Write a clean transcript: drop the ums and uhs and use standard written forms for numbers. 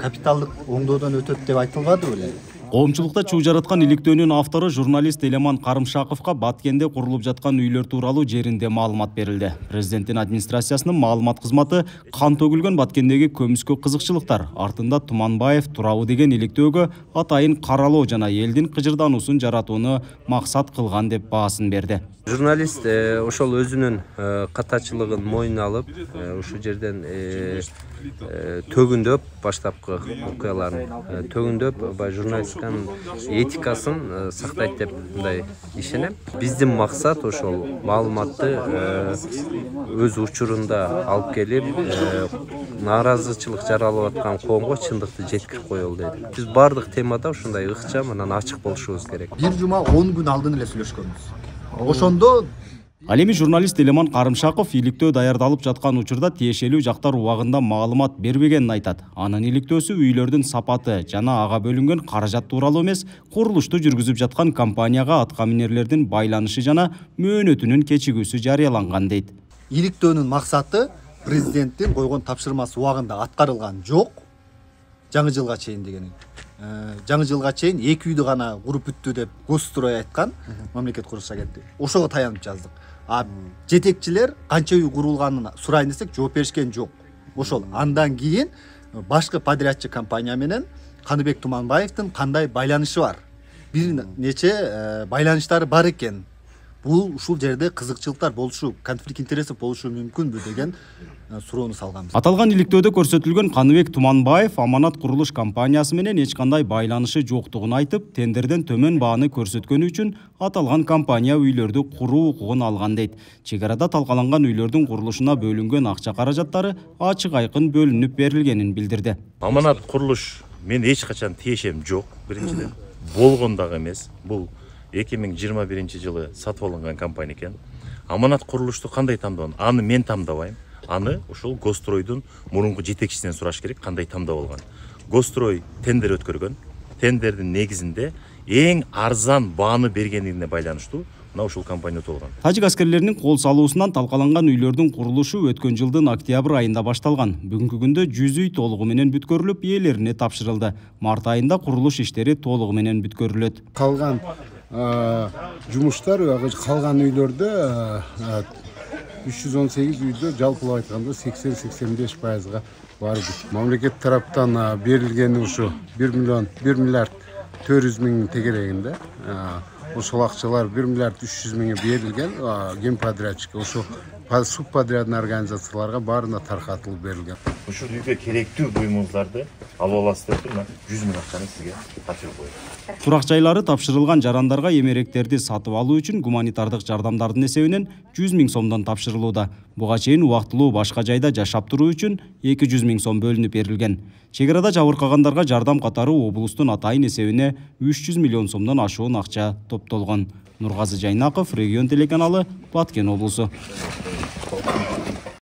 Капиталдык оңдоодон өтөт деп айтылбады беле? Коомчулукта чуу жараткан иликтөөнүн автору журналист Элеман Карымшаковго Баткенде курулуп жаткан үйлөр тууралуу жеринде маалымат берилди. Президенттин администрациясынын маалымат кызматы кан төгүлгөн Баткендеги көмүскө кызыкчылыктар артында Туманбаев турабы деген иликтөөгө атайын каралоо жана элдин кыжырдануусун жаратууну максат кылган деп баасын берди. Журналист ошол өзүнүн катачылыгын мойнуна алып, ушул жерден төгүндөп баштапкы окуяларын төгүндөп журналистиканын этикасын сактайт деп мындай ишенем. Биздин максат ошол маалыматты өз учурунда алып келип, нааразычылык жаралып аткан коомго чындыкты жеткирип коелу дейт. Биз бардык темада ушундай ыкчам анан ачык болушубуз керек. Бир жума 10 күн алдын эле сүйлөшкөнбүз. Ошондо Ал эми журналист Элеман Карымшаков иликтөө даярдалып жаткан учурда тиешелүү жактар убагында маалымат бербегенин айтат. Анын иликтөөсү үйлөрдүн сапаты жана ага бөлүнгөн каражат тууралуу эмес, курулушту жүргүзүп жаткан компанияга атка минерлердин байланышы жана мөөнөтүнүн кечигүүсү жарыяланган дейт. Иликтөөнүн максаты президенттин койгон тапшырмасы убагында аткарылган жок. Жаңы жылга чейин деген. Жаңы жылга чейин 2 үйдү гана куруп бүттү деп Госстрой айткан, мамлекет курулуш агенттиги. Ошого таянып жаздык. Жетекчилер канча үй курулганын сурайын десек жооп беришкен жок. Ошол андан кийин башкы подрядчы компания менен Каныбек Туманбаевдин кандай байланышы бар? Бир нече байланыштары бар экен. Бул ушул жерде кызыкчылыктар болушу, конфликт интересов болушу мүмкүнбү деген суроону салганбыз. Аталган иликтөөдө көрсөтүлгөн Каныбек Туманбаев Аманат курулуш компаниясы менен эч кандай байланышы жоктугун айтып, тендерден төмөн бааны көрсөткөнү үчүн аталган компания үйлөрдү куруу укугун алган дейт. Чек арада талкаланган үйлөрдүн курулушуна бөлүнгөн акча каражаттары ачык айкын бөлүнүп берилгенин билдирди. Аманат курулуш мен эч качан тиешем жок. Биринчиден болгон дагы эмес. Бул 2021 жылы сатып алынган компания экен. Аманат курулушту кандай тамдаган? Аны мен тамдабайм. Аны ошол Госстройдун мурунку жетекчисинен сураш керек, кандай тамдап алган. Госстрой тендер өткөргөн. Тендердин негизинде эң арзан бааны бергендигине байланыштуу мына ушул компания толгон. Тажик аскерлеринин кол салуусунан талкаланган үйлөрдүн курулушу өткөн жылдын октябрь айында башталган. Бүгүнкү күндө 100 үй толугу менен бүткөрүлүп, ээлерине тапшырылды. Март айында курулуш иштери толугу менен бүткөрүлөт. Калган жумуштар калган үйлөрдө 318 үйдө жалпылап айтканда 80-85%га барды. Мамлекет тараптан берилгени ушу 1 миллиард 400 миң тегерегинде. Ошол акчалар 1 миллиард 300 миңи берилген генподрядчикке, ошо субподрядный организацияларга баарына таркатылып берилген. Ушул үйгө керектүү буюмуңуздарды алып аласыз деп 100 миң акчаны сизге тапшырып коет. Турак жайлары тапшырылган жарандарга эмеректерди сатып алуу үчүн гуманитардык жардамдардын эсебинен 100 миң сомдон тапшырылууда. Буга чейин убактылуу башка жайда жашап туруу үчүн 200 миң сом бөлүнүп берилген. Чек арада жабыркагандарга жардам катары облустун атайын эсебине 300 миллион сомдон ашуун акча топтолгон. Нургазы Жайнаков, Регион телеканалы, Баткен облусу.